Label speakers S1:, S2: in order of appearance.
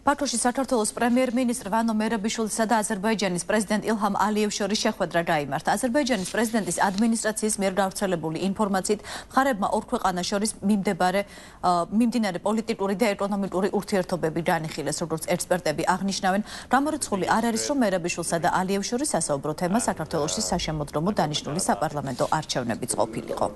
S1: ბაქოში საქართველოს პრემიერ-მინისტრ ვანო მერაბიშვილისა და აზერბაიჯანის პრეზიდენტ ილჰამ ალიევს შორის შეხვედრა გაიმართა. აზერბაიჯანის პრეზიდენტის ადმინისტრაციის მიერ გავრცელებული ინფორმაციით, მხარეებმა ორ ქვეყანას შორის მიმდინარე პოლიტიკური და ეკონომიკური ურთიერთობები განიხილეს, როგორც ექსპერტები აღნიშნავენ. გამორიცხული არ არის, რომ მერაბიშვილსა და ალიევს შორის სასაუბრო თემა საქართველოში საშემოდგომო დანიშნული საპარლამენტო არჩევნებიც ყოფილიყო.